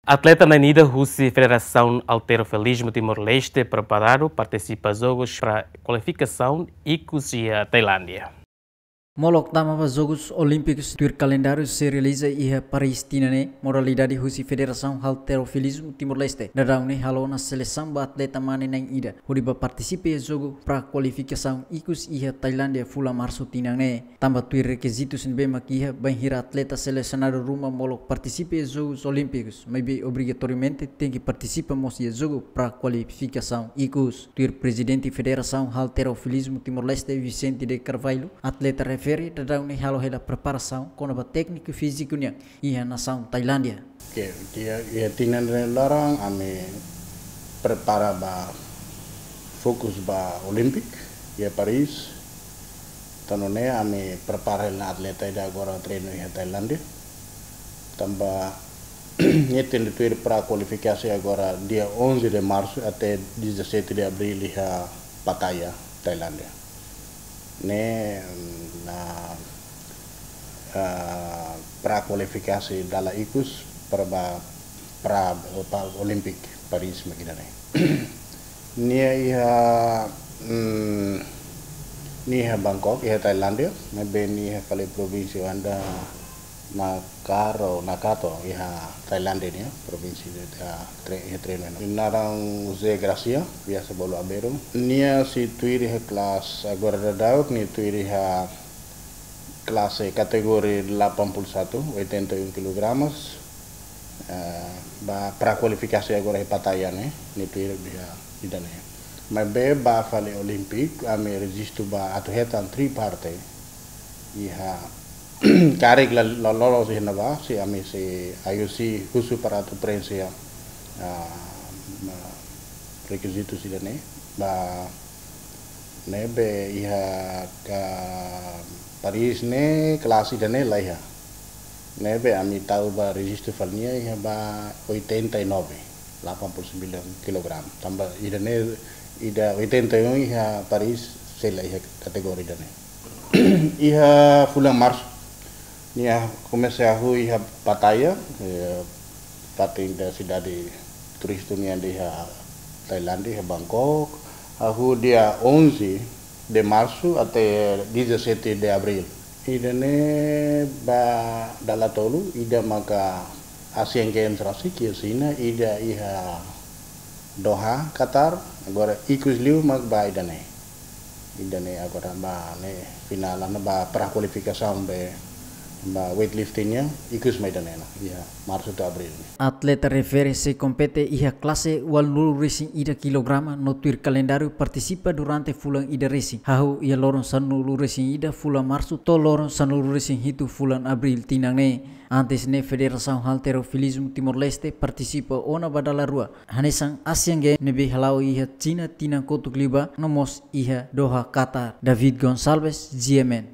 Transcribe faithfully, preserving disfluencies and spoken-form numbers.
Atleta na'in ida husi Federasaun Halterofilismu Timor-Leste preparadu partisipa jogus para kualifikasaun ikus iha Tailándia. Molok tama ba Jogus Olímpikus tuir kalendáriu sei realiza iha Paris tinan ne'e, modalidade husi Federasaun Halterofilismu Timor-Leste daudaun ne'e halo ona selesaun ba atleta mane na'in ida hodi ba partisipa iha jogu para kualifikasaun ikus iha Tailándia fulan Marsu tinan ne'e. Tanba tuir rekizitus ne'ebé mak iha, bainhira atleta selesionadu ruma molok partisipa iha Jogus Olímpikus, maibé obrigatoriamente tenke partisipa mós iha jogu para kualifikasaun ikus. Tuir Prezidente Federasaun Halterofilismu Timor-Leste, Vicente de Carvalho, atleta refere daudaun ne'e halo hela preparasaun kona-ba tékniku fíziku nian iha nasaun Tailándia. Ke, ke, iha tinan ne'e laran, ami prepara ba fokus ba Olímpik iha Paris. Tan ne'e ami prepara hela atleta ida agora treinu iha Tailándia. Tanba ne'e tenke tuir para kualifikasi agora dia onze de março até dezassete de abril iha Pattaya, Tailándia. Ne'e, mm, na, ah, para kualifikasi dala ikus para ba, para, para Olímpik Paris mak ida-ne'e. Nia iha, mm, nia iha Bangkok, iha Tailándia, maibé nia iha fali provínsia anda Nakaro, Nakato, iha Tailándia nian, provínsia de, ah, tre-, iha treinu. Nia naran José Gracia, biasa bolu Abeiro. Nia sei tuir iha kelas, agora daudaun, nia tuir iha klase kategoria delapan puluh satu, oitenta e um quilogramas. Eh, ba para kualifikasi agora iha Pattaya ne'e, nia tuir iha ida-ne'e. Maibé ba fali Olímpik, ami rejistu ba atu hetan tri parte. Iha karik la, la lolos iha ne'ebá, sei ami sei I O C husu para atu preenxe, ah, ma-, rekizitus ida-ne'e. Ba ne'ebé iha ka Paris ne'e, klase ida-ne'e la iha. Ne'ebé ami tau ba rejistu fali nia iha ba oitenta e nove, delapan puluh sembilan kilogram. Tanba ida-ne'e, ida oitenta e um iha Paris sei la iha kategoria ida-ne'e. Iha fulan Marsu, nia komesa hahú iha Pattaya, eh, fatin ida sidade turístiku nian iha Tailándia, iha Bangkok. Hahú dia onze de março até dezassete de abril. Ida-ne'e ba dala tolu, ida maka Asian Games rasik iha Xina, ida iha Doha, Qatar, agora ikus liu mak ba ida-ne'e. Ida-ne'e agora ba ne'e finál ona ba para kualifikasaun be ba weightlifting nian, ikus mai ida-ne'e ona, iha Marsu to'o Abril. Atleta refere sei kompete iha klase ualunulu-resin-ida kilograma no tuir kalendáriu partisipa durante fulan ida resin. Hahú iha loron sanulu-resin-ida fulan Marsu to'o loron sanulu-resin-hitu fulan Abril tinan ne'e. Antes ne'e Federasaun Halterofilismu Timor-Leste partisipa ona ba dala rua, hanesan Asian Games ne'ebé hala'o iha Xina tinan kotuk liubá, no mós iha Doha, Qatar. David Gonçalves, G M N.